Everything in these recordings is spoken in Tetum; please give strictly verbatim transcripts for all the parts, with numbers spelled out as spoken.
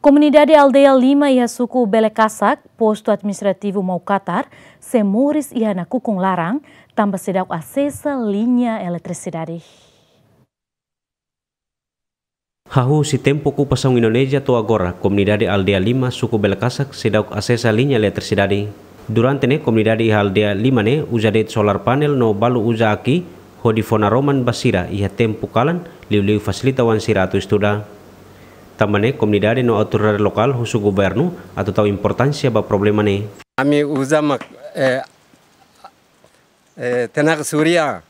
Komunidade Aldeia Lima iha suku Belekasak, postu administrativu Maukatar, sei moris iha nakukun laran, tanba seidauk asesa liña eletrisidade. Hahú husi tempu okupasaun Indonézia to'o agora, komunidade Aldeia Lima, suku Belekasak, seidauk asesa liña eletrisidade. Durante ne'e, komunidade iha Aldeia Lima ne'e uza de'it solar panel no balu uza aki hodi fó naroman ba sira iha tempu kalan, liuliu fasilita oan sira atu estuda. Tanba ne'e, komunidade no autoridade lokál husu governu atu tau importánsia ba problema ne'e. Ami uza mak, eh, eh, tenaga surya,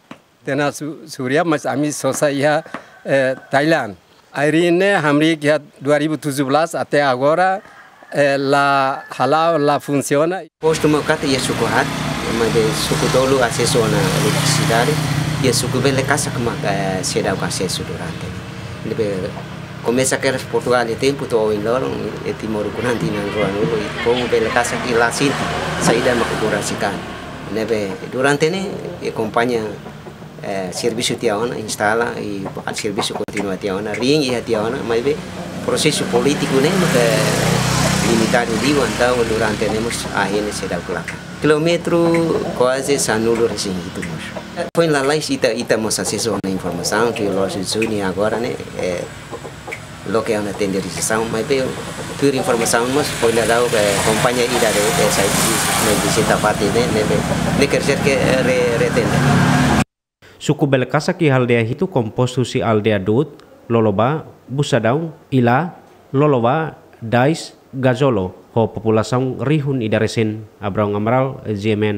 tenaga su-, surya, mas ami sosa iha, eh, Thailand. Air ne'e hamriik iha dua ribu tujuh belas até agora, eh, la hala'o, la funsiona. Postu Maukatar iha suku haat, maibé suku tolu asesu ona eletrisidade, iha suku Belekasak mak, eh, seidauk asesu durante. Ne'ebé komesa kedas Portugál iha tempu to'o ohin loron, iha Timor ukun an tinan ruanulu, iha povu Belekasak la sente saida mak oku rasik an. Ne'ebé durante ne'e, iha kompañia, eh, servisu tiha ona, instala i servisu kontinua tiha ona, riin iha tiha ona, maibé prosesu polítiku ne'e maka limitadu liu, entaun durante ne'e mós ahi ne'e seidauk lakan. Kilómetru kuaze sanulu-resin-hitu mós. Foin lalais ita, ita mós asesu ona informasaun, tuir loos Juni agora ne'e, eh, loke ona tenderizasaun, maibé tuir informasaun mós foin daudauk, eh, kompañia ida de'it, eh, sai di, ne'e vizita fatin ne'e, ne'ebé, ne'e quer dizer que, eh, re-, retende. Suku Belekasak iha aldeia hitu kompostu husi aldeia Dut, Lolobá, Busadão, Ilá, Lolobá, Dais, Gazolo, ho populasaun rihun ida resin. Abraão Amaral, G M N.